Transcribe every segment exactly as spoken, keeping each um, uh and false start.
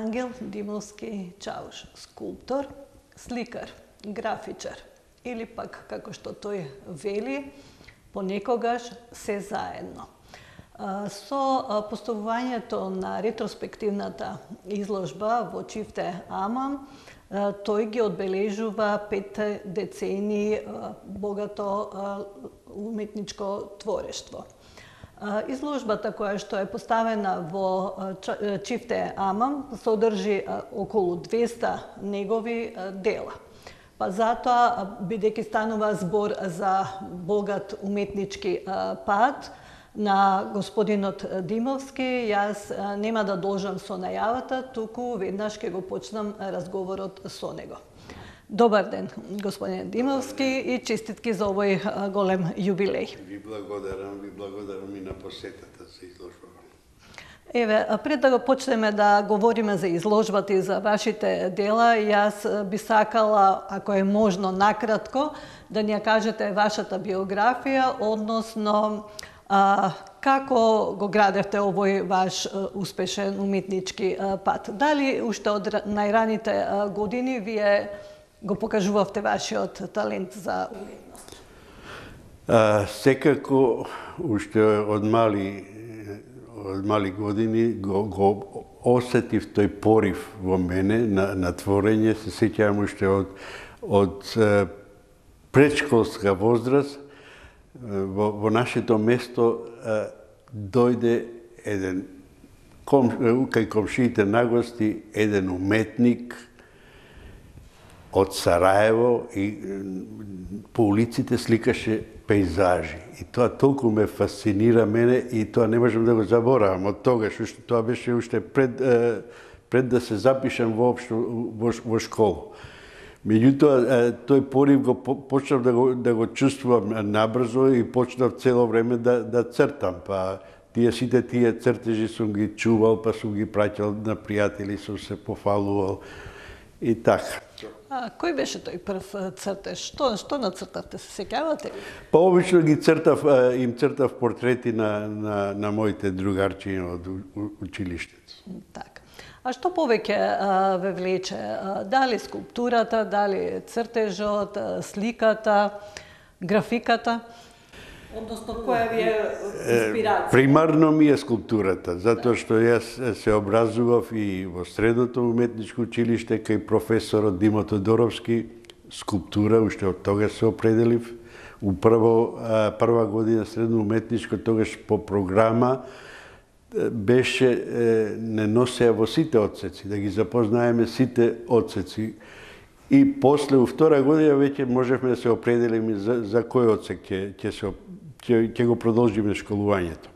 Ангел Димовски Чауш, скулптор, сликар, графичар или пак, како што тој вели, понекогаш се заедно. Со поставувањето на ретроспективната изложба во Чифте Амам, тој ги одбележува пет децении богато уметничко творештво. Изложбата која што е поставена во Чифте Амам содржи околу двеста негови дела. Па затоа, бидејќи станува збор за богат уметнички пат на господинот Димовски, јас нема да должам со најавата, туку веднаш ќе го почнам разговорот со него. Добар ден, господин Димовски, и честитки за овој голем јубилеј. Ви благодарам, ви благодарам и на посетата за изложбата. Еве, пред да го почнеме да говориме за изложбата и за вашите дела, јас би сакала, ако е можно накратко, да ни ја кажете вашата биографија, односно а, како го градевте овој ваш успешен уметнички пат. Дали уште од најраните години вие го покажувавте вашиот талент за уметност? А, секако, уште од мали, од мали години го, го осетив тој порив во мене на, на творење. Се сеќавам уште од, од предшколска возраст. Во, во нашето место а, дојде еден, ком, кај комшиите на гости, еден уметник од Сараево и по улиците сликаше пейзажи. И тоа толку ме фасцинира мене и тоа не можам да го заборавам од тогаш. Уште, тоа беше уште пред, пред да се запишам воопшто во, во школа. Меѓутоа, тој порив го почнав да го, да го чувствувам набрзо и почнав цело време да, да цртам. Па тие сите тие цртежи сум ги чувал, па сум ги праќал на пријатели, сум се пофалувал и така. А кој беше тој прв цртеж? Што, што нацртавте, се сеќавате? Па обично ги цртав, им цртав портрети на, на, на моите другарчиња од училиштето. Така. А што повеќе ве влече? Дали скулптурата, дали цртежот, сликата, графиката? Односно, која ви е инспирација? Примарно ми е скулптурата, затоа што јас се образував и во средното уметничко училиште кај професорот Димо Тодоровски, скулптура, уште од тогаш се определив. Управо прва година средно уметничко, тогаш по програма беше, не носеа во сите одсеци, да ги запознаеме сите одсеци. И после, у втора година, веќе можевме да се определиме за, за кој одсек ќе, ќе, се, ќе, ќе го продолжиме школувањето.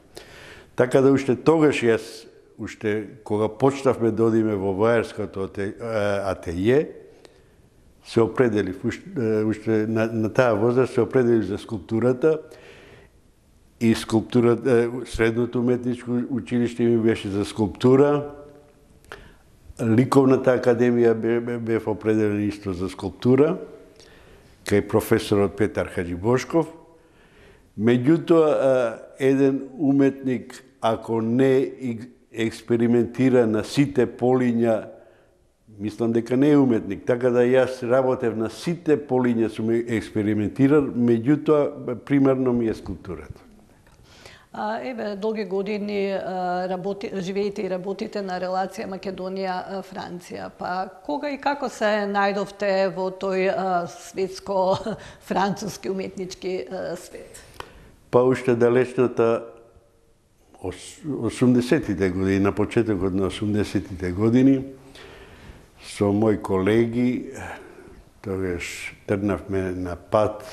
Така да уште тогаш јас, уште кога почнавме да одиме во војарското ателје, се определив, уште, уште на, на таа возраст се определив за скулптурата. И скулптурата, средното уметничко училиште ми беше за скулптура. Ликовната академија бев определен исто за скулптура, кај професорот Петар Хаджибошков. Меѓутоа, еден уметник ако не експериментира на сите полиња, мислам дека не е уметник. Така да јас работев на сите полиња, сум експериментирал, меѓутоа примерно ми е скулптурата. А, еве, долги години работи, живеете и работите на релација Македонија-Франција. Па кога и како се најдовте во тој светско-француски уметнички свет? Па уште далечната осумдесетите години, на почетокот на осумдесетите години, со мои колеги, тогаш тргнавме на пат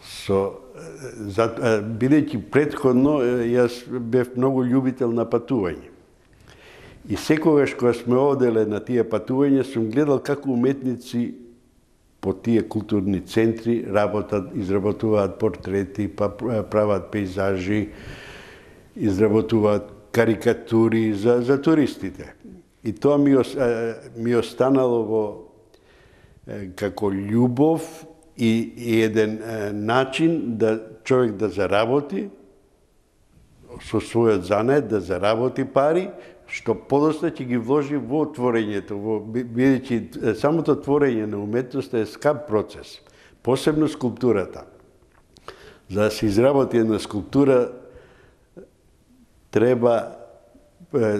со бидејќи претходно јас бев многу љубител на патување. И секогаш кога сме оделе на тие патувања, сум гледал како уметници по тие културни центри работат, изработуваат портрети, па прават пейзажи, изработуваат карикатури за, за туристите. И тоа ми, ми останало во како љубов и, и еден начин да човек да заработи со својот занет, да заработи пари, што подоцна ќе ги вложи во творењето, во бидејќи самото творење на уметноста е скап процес, посебно скулптурата. За да се изработи една скулптура треба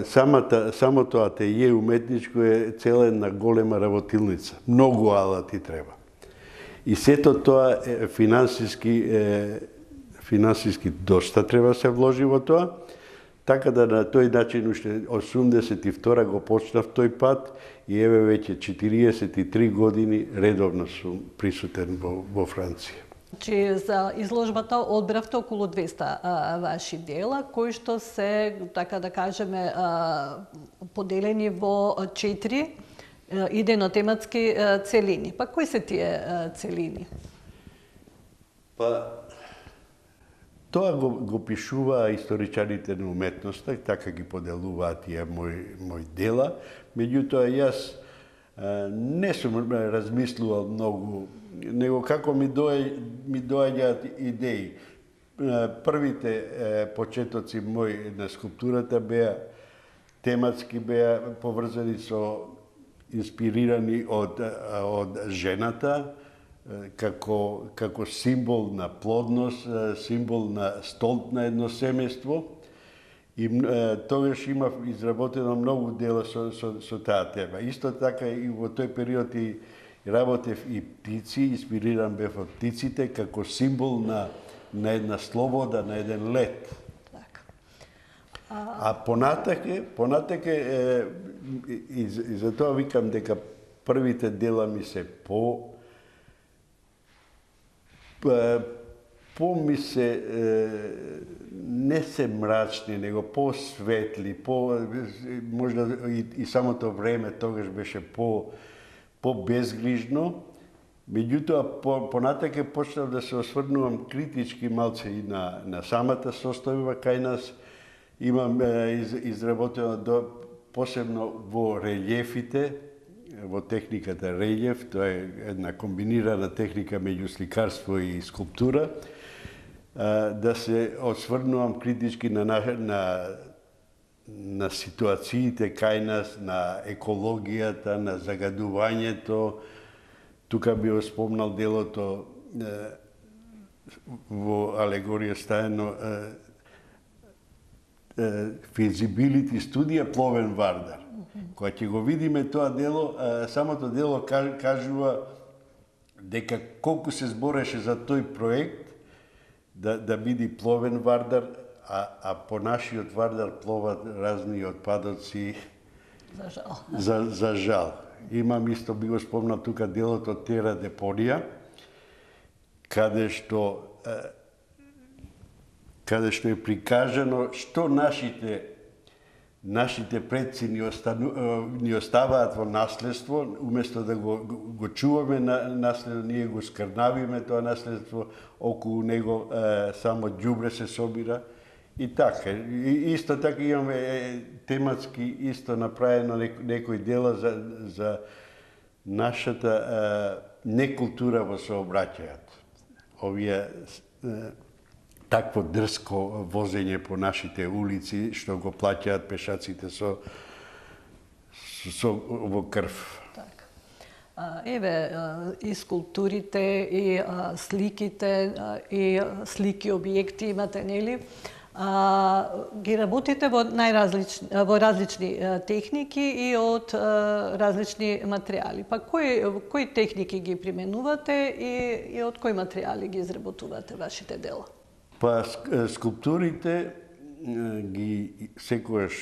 самата самото ателје уметничко е цела една голема работилница. Многу алати треба. И сето тоа е финансиски е, финансиски доста треба се вложи во тоа. Така да на тој начин уште осумдесет и втора го почнав тој пат и еве веќе четириесет и три години редовно сум присутен во, во Франција. Значи, за изложбата одбравте околу двеста а, ваши дела, кои што се, така да кажеме, а, поделени во четири идејно-тематски целини. Па кои се тие а, целини? Па, тоа го, го пишуваа историчарите на уметноста, така ги поделуваат тие мои, мои дела. Меѓутоа, јас а, не сум размислувал многу, него како ми, дој, ми доаѓаат идеи. Првите е, почетоци мои на скулптурата беа тематски, беа поврзани со инспирирани од, од жената, како, како символ на плодност, символ на столт на едно семејство. И тогаш имав изработено многу дела со, со, со таа тема. Исто така и во тој период и работев и птици, инспириран бев од птиците како символ на, на една слобода, на еден лет. Так. А, а понатаке, понатаке е, и, и за тоа викам дека првите дела ми се по по ми се е, не се мрачни, него по-светли, по можда и, и самото време тогаш беше по по-безгрижно. Меѓутоа, по, понатаке почнав да се осврнувам критички малце и на, на самата состојба кај нас. Имам е, из, изработено до, посебно во релјефите, во техниката релјеф, тоа е една комбинирана техника меѓу сликарство и скулптура, да се осврнувам критички на, на, на ситуациите кај нас, на екологијата, на загадувањето. Тука би го спомнал делото во алегорија стаено feasibility студија Пловен Вардар. Кога ќе го видиме тоа дело, самото дело кажува дека колку се збореше за тој проект да, да биде пловен Вардар, а, а по нашиот Вардар пловат разни отпадоци. За жал. За, за жал. Имам исто, би го спомнал тука делото Тера Депонија, каде што каде што е прикажано што нашите нашите предци ни, остану, ни оставаат во наследство, уместо да го, го чуваме на наследство, ние го скрнавиме тоа наследство, околу него е, само ѓубре се собира. И така, и, исто така имаме е, тематски исто направено некои дела за, за нашата е, некултура во сообраќајот. Овие е, такво дрско возење по нашите улици, што го плаќаат пешаците со, со во крв. Так. А, еве, и скулптурите, и а, сликите, а, и слики објекти имате, нели? А, ги работите во најразлични во различни а, техники и од а, различни материјали. Па кои кои техники ги применувате и и од кои материјали ги изработувате вашите дела? Па скулптурите ги секогаш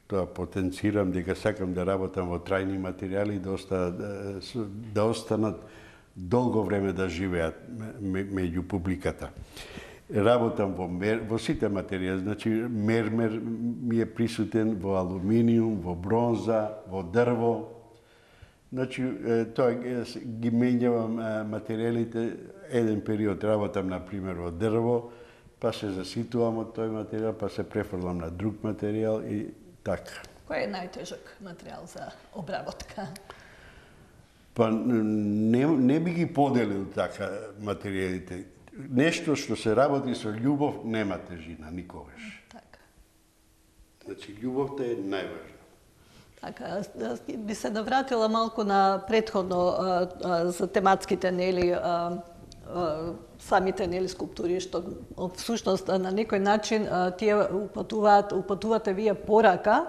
тоа потенцирам дека сакам да работам во трајни материјали да останат да останат долго време да живеат меѓу публиката. Работам во мер, во сите материјали, значи мермер ми е присутен во алуминиум, во бронза, во дрво. Значи тоа ги менјавам материјалите, еден период работам на пример во дрво, па се заситувам од тој материјал, па се префрлам на друг материјал и така. Кој е најтежок материјал за обработка? Па не, не би ги поделил така материјалите. Нешто што се работи со љубов нема тежина никогаш. Така. Значи љубовта е најважна. Така, би се навратила малку на претходно а, а, за тематските, нели, а, а, самите, нели, скулптури, што всушност на некој начин а, тие упатуваат, упатувате вие порака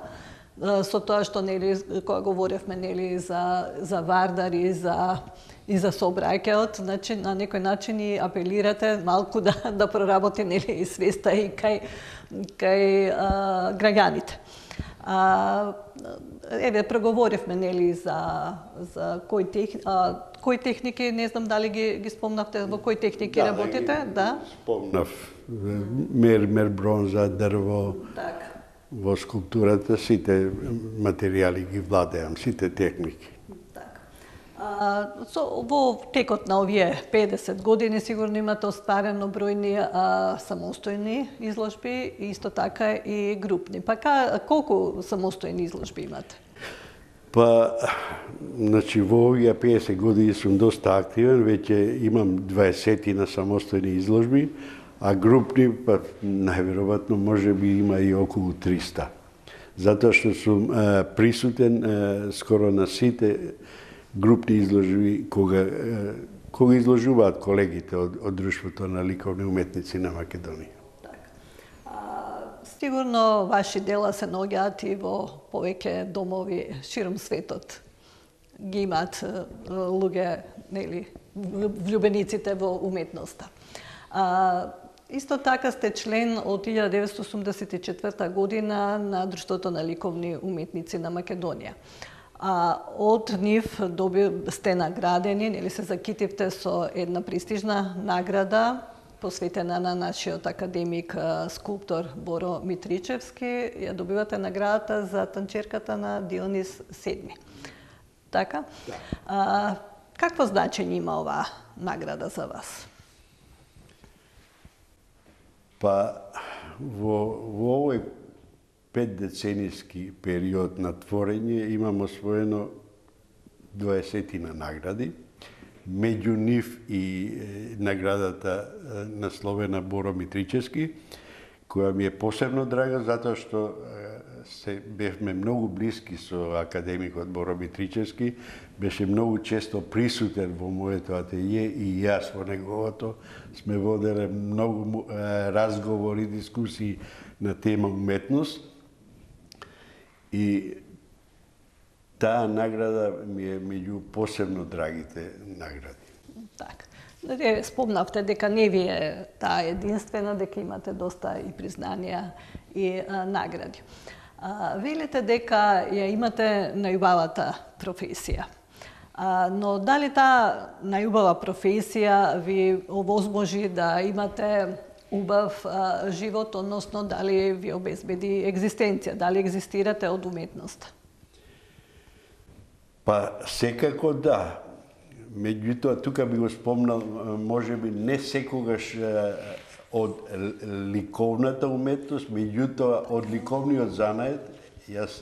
а, со тоа што, нели, кога говоревме, нели, за за Вардар и за и за сообраќајот, значи на некој начин и апелирате малку да да проработи, нели, и свеста и кај кај а, граѓаните. А, еве проговоривме, нели, за за кои тех, а, кои техники, не знам дали ги ги спомнавте, во кои техники да, работите, да? да? Спомнав. Мермер, бронза, дрво. Така. Во скулптурата сите материјали ги владеам, сите техники. А, со, во текот на овие педесет години сигурно имате остварено бројни а, самостојни изложби, исто така и групни. Па ка, колку самостојни изложби имате? Па, значи, во овие педесет години сум доста активен, веќе имам дваесет на самостојни изложби, а групни, па, најверојатно, може би има и околу триста. Затоа што сум а, присутен а, скоро на сите групни изложби кога кога изложуваат колегите од, од Друштвото на ликовни уметници на Македонија. Така. А, сигурно ваши дела се наоѓаат и во повеќе домови широм светот. Ги имаат луѓе, нели, влюбениците во уметноста. А, исто така сте член од илјада деветстотини осумдесет и четврта година на Друштвото на ликовни уметници на Македонија. А од нив доби, сте наградени, нели се закитивте со една престижна награда посветена на нашиот академик скулптор Боро Митричевски. Ја добивате наградата за танчерката на Дионис седми. Така? Да. А, какво значење има оваа награда за вас? Па во, во овој петдеценијски период на творење имам освоено дваесетина награди, меѓу нив и е, наградата е, насловена Боро Митричевски, која ми е посебно драга затоа што е, се бевме многу блиски со академикот Боро Митричевски, беше многу често присутен во моето ателје и јас во неговото. Сме воделе многу е, разговори, дискусии на тема уметност. И таа награда ми е меѓу посебно драгите награди. Така. Спомнавте дека не ви е таа единствена, дека имате доста и признанија и а, награди. А, велите дека ја имате најубавата професија. А, но дали таа најубава професија ви овозможи да имате убав а, живот, односно дали ви обезбеди екзистенција, дали екзистирате од уметноста? Па секако да. Меѓутоа, тука би го спомнал, можеби не секогаш од ликовната уметност, меѓутоа од ликовниот занает. Јас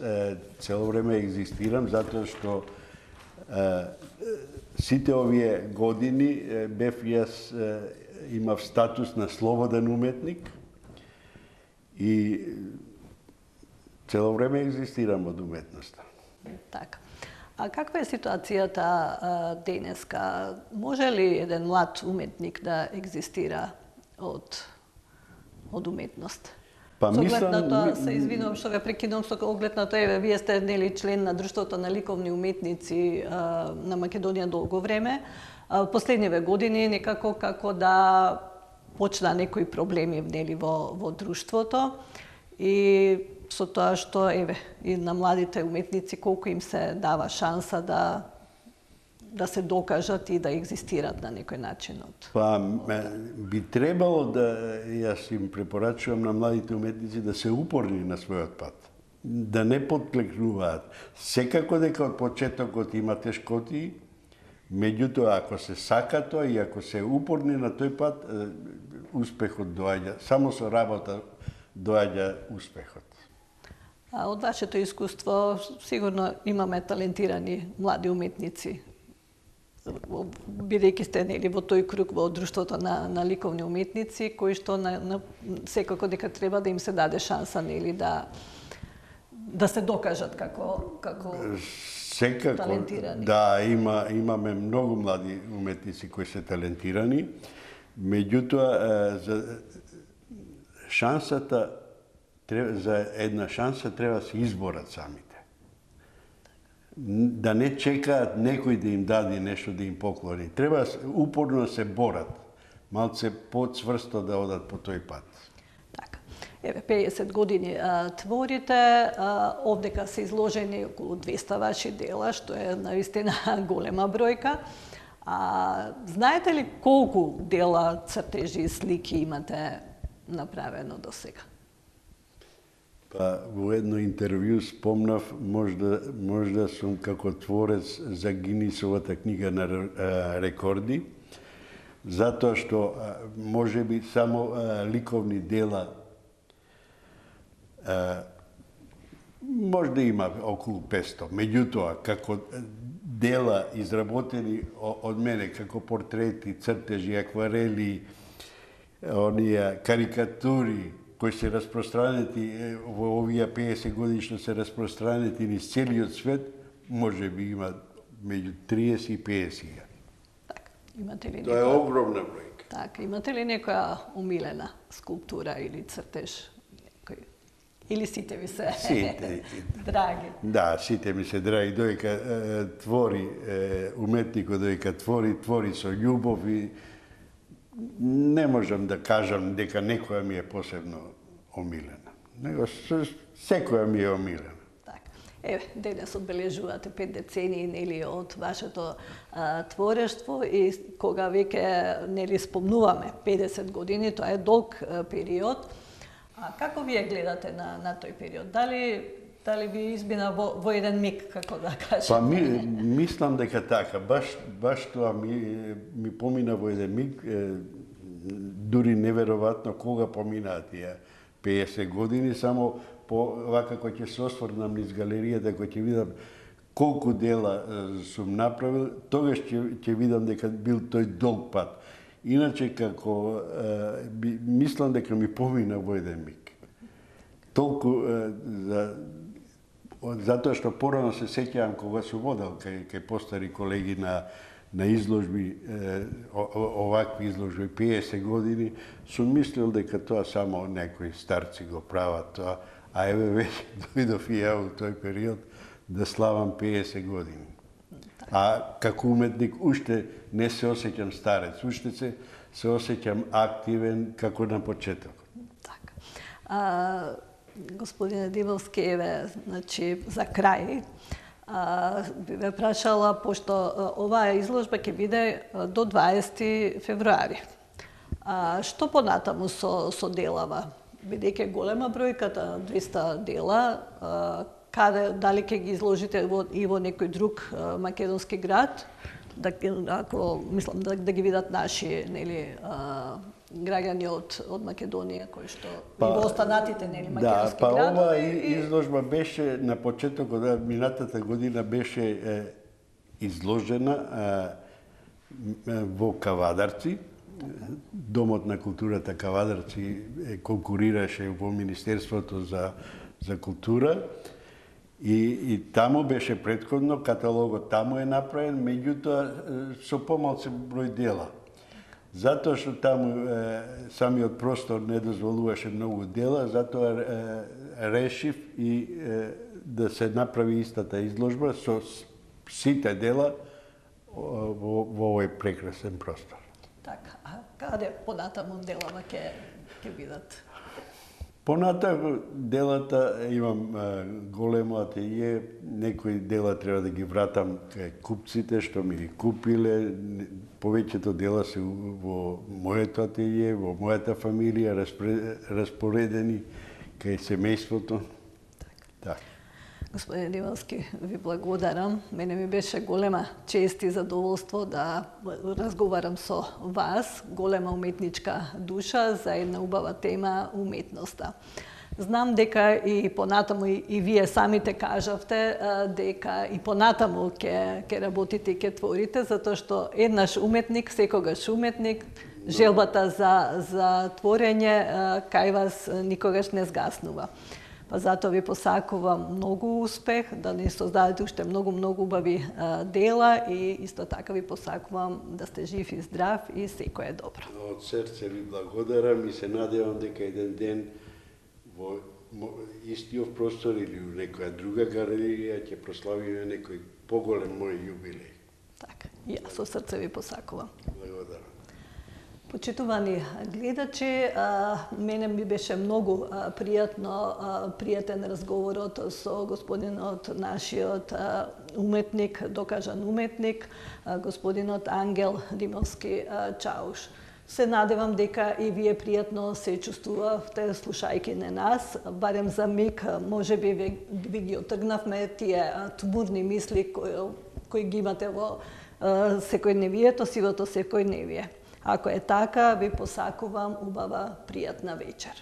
цело време екзистирам, затоа што сите овие години бев јас имав статус на слободен уметник и цело време екзистирам од уметноста. Така. А каква е ситуацијата а, денеска? Може ли еден млад уметник да екзистира од, од уметност? Па Со оглед на мислам, тоа, се извинувам што ве прекинувам, со оглед на тоа, еве, вие сте нели член на Друштвото на ликовни уметници а, на Македонија долго време. А, последниве години некако како да почна некои проблеми нели во во друштвото и со тоа што еве и на младите уметници колку им се дава шанса да да се докажат и да екзистират на некој начин од. Па би требало да јас им препорачувам на младите уметници да се упорни на својот пат, да не подклекнуваат. Секако дека од почетокот има тешкоти, меѓутоа ако се сака тоа и ако се упорни на тој пат, успехот доаѓа. Само со работа доаѓа успехот. А од вашето искуство сигурно имаме талентирани млади уметници, бидејќи сте нели во тој круг во Друштвото на, на ликовни уметници, кои што на, на, секако дека треба да им се даде шанса нели да да се докажат како како секако талентирани. Да, има имаме многу млади уметници кои се талентирани, меѓутоа за шансата за една шанса треба да се изборат самите. Да не чекаат некој да им даде нешто да им поклони. Треба упорно да се борат, малце поцврсто да одат по тој пат. Така. Еве, педесет години а, творите, а, овдека се изложени околу двеста ваши дела, што е наистина голема бројка. А, знаете ли колку дела, цртежи и слики имате направено до сега? Па, во едно интервју спомнав, можда, можда сум како творец за Гинисовата книга на рекорди, затоа што може би само ликовни дела можда има околу петсто. Меѓутоа, како дела изработени од мене, како портрети, цртежи, акварели, оние карикатури, кои се распространети во овие педесет години што се распространети низ целиот свет, може би има меѓу триесет и педесет. Така, имате ли Тоа е некоја... огромна бројка. Така, имате ли некоја умилена скулптура или цртеж? Некој... Или сите ви се Сите. драги? Да, сите ми се драги. Доека твори, уметникот доека твори, твори со љубов и не можам да кажам дека некоја ми е посебно омилена. Него секоја ми е омилена. Така. Еве, денес одбележувате пет децении нели од вашето а, творештво и кога веќе нели спомнуваме педесет години, тоа е долг а, период. А како вие гледате на на тој период? Дали дали ви избина во, во еден миг, како да кажем? Па ми, мислам дека така, баш баш тоа ми ми помина во еден миг, е, дури неверојатно кога поминаа тие педесет години, само по вака кога ќе се осврнам низ галеријата, кога ќе видам колку дела е, сум направил, тогаш ќе ќе видам дека бил тој долг пат. Иначе како е, би, мислам дека ми помина во еден миг. Толку е, за затоа што порано се сеќавам кога сум одел кај кај постари колеги на на изложби, е, овакви изложби педесет години, сум мислил дека тоа само некои старци го прават тоа, а еве веќе дојдов и ја во тој период да славам педесет години. А како уметник уште не се осеќам старец, уште се се осеќам активен како на почетокот. Така. А, господине Диволски, еве, значи, за крај, а, би ве прашала, пошто а, оваа изложба ќе биде а, до дваесети февруари. А, што понатаму со, со делава? Бидејќи голема бројката, двеста дела, а, каде, дали ќе ги изложите во, и во некој друг а, македонски град, да, ако, мислам, да, да ги видат наши, нели, а, граѓани од, од Македонија, кои што па, и во останатите, нели, македонски да, па градови. оваа изложба беше на почетокот на минатата година беше е, изложена е, во Кавадарци, Домот на културата Кавадарци конкурираше во Министерството за, за култура и, и таму беше претходно, каталогот таму е направен, меѓутоа со помалку број дела. Затоа што таму е, самиот простор не дозволуваше многу дела, затоа е, решив и е, да се направи истата изложба со сите дела во, во овој прекрасен простор. Така, а каде понатаму делава ќе ќе бидат? Понатаму делата имам а, големо ателје, некои дела треба да ги вратам кај купците што ми ги купиле. Повеќето дела се во моето ателје, во мојата фамилија, распоредени кај семејството. Така. Господин Димовски, ви благодарам. Мене ми беше голема чест и задоволство да разговарам со вас, голема уметничка душа за една убава тема уметноста. Знам дека и понатаму и, и вие самите кажавте дека и понатаму ќе ќе работите и ќе творите, затоа што еднаш уметник, секогаш уметник, желбата за за творење кај вас никогаш не згаснува. Па затоа ви посакувам многу успех, да ни создадете уште многу многу убави дела и исто така ви посакувам да сте жив и здрав и секое добро. Од срце ви благодарам и се надевам дека еден ден во истиот простор или во некоја друга галерија ќе прославиме некој поголем мој јубилеј. Така, и јас со срце ви посакувам. Благодарам. Почитувани гледачи, мене ми беше многу пријатно, пријатен разговорот со господинот, нашиот уметник, докажан уметник, господинот Ангел Димовски Чауш. Се надевам дека и вие пријатно се чувствувавте слушајќи на нас, барем за миг, може би ви, ви ги отргнавме тие тмурни мисли кои, кои ги имате во секојдневието, сивото секојдневие. Ако е така, ви посакувам убава пријатна вечер.